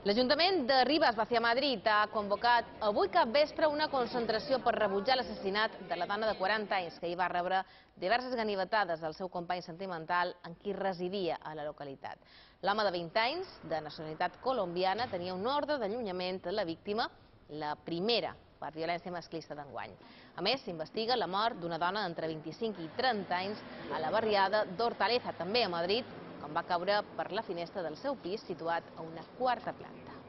L'Ajuntament de Ribes, Vacià, Madrid, ha convocat avui capvespre una concentració per rebutjar l'assassinat de la dona de 40 anys que hi va rebre diverses ganivetades del seu company sentimental amb qui residia a la localitat. L'home de 20 anys, de nacionalitat colombiana, tenia un ordre d'allunyament de la víctima, la primera per violència masclista d'enguany. A més, s'investiga la mort d'una dona d'entre 25 i 30 anys a la barriada d'Hortaleza, també a Madrid, quan va caure per la finestra del seu pis situat a una quarta planta.